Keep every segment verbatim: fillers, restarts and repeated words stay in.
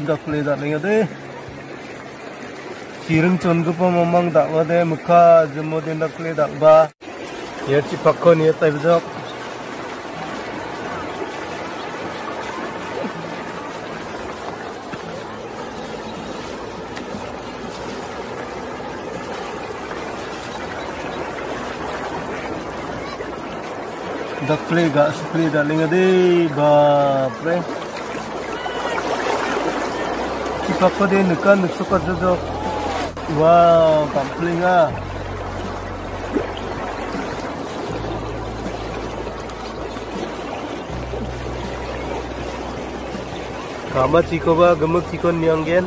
Dakple dal·engade. Chiring chongipa mamang dal·ode, mikka jimode dakple dal·ba. Ia chipakko nie taibajok. Dakple ga·sikple dal·engade, bapre. Chipakode nika niksoka jojok. Wow, gam·plenga. Ka·machikoba gimik chikon nianggen.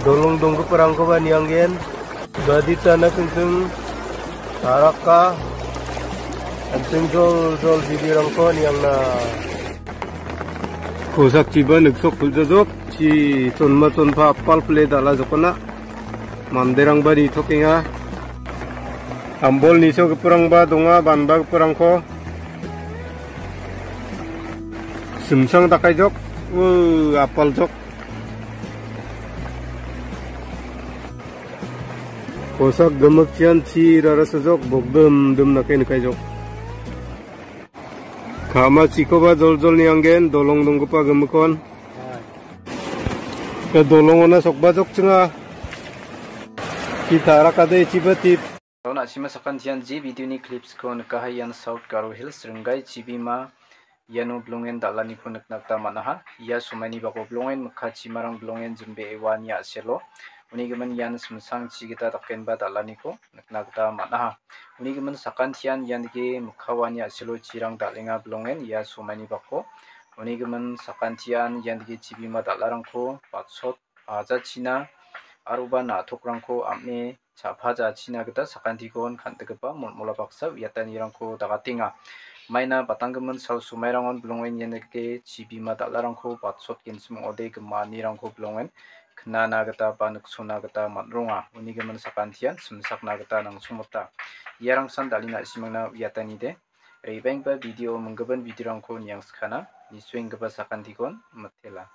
Dolong donggiparangkoba nianggen. Baditana tingting taraka. An·ching joljol bibirangko niangna. Kosakchiba niksok puljajok, chi chonma chonpa apal pile dal·a jokona. Manderangba nitokenga. Ambol nisogiparangba donga, banbagiparangko. Simsang dakaijok, u, apaljok. Kosak gimikchian chi rarasajok, bokdimdim dake nikaijok. Ka·machikoba joljol nianggen, dolong donggipa gimikon. Ia dolongona sokbajokchinga. Ki tarakade ichiba tip. Na·sima sakantian je videoni clipsko nikaha, ian South Garo Hills Ringgai chibima. Iano bilongen dal·aniko nikna gita man·aha. Ia somaini bako bilongen mikka chimarang bilongen jimbee uani a·selo. Uni gimin ian simsang chi gita dakenba dal·aniko nikna gita man·aha. Uni gimin sakantian ian dike mikka uani a·selo chirang dal·enga bilongen ia somaini bako. Uni gimin sakantian ian dike chibima dal·arangko batsot bajachina aroba na·tokrangko am·e cha·pajachina gita sakantikon kan·tikgipa molmola baksa uiatanirangko dagatenga. Maina batanggimin sal somairangon bilongen ian dike chibima dal·arangko batsot gensim ong·ode gimanirangko bilongen knana gita ba niksona gita man·ronga. Uni gimin sakantian simsakna gita nangsongmota. Iarangsan dal·e na·simangna uiatanide. Rebengba video minggimin videorangko niangskana. Nisuenggipa sakantikon mitela.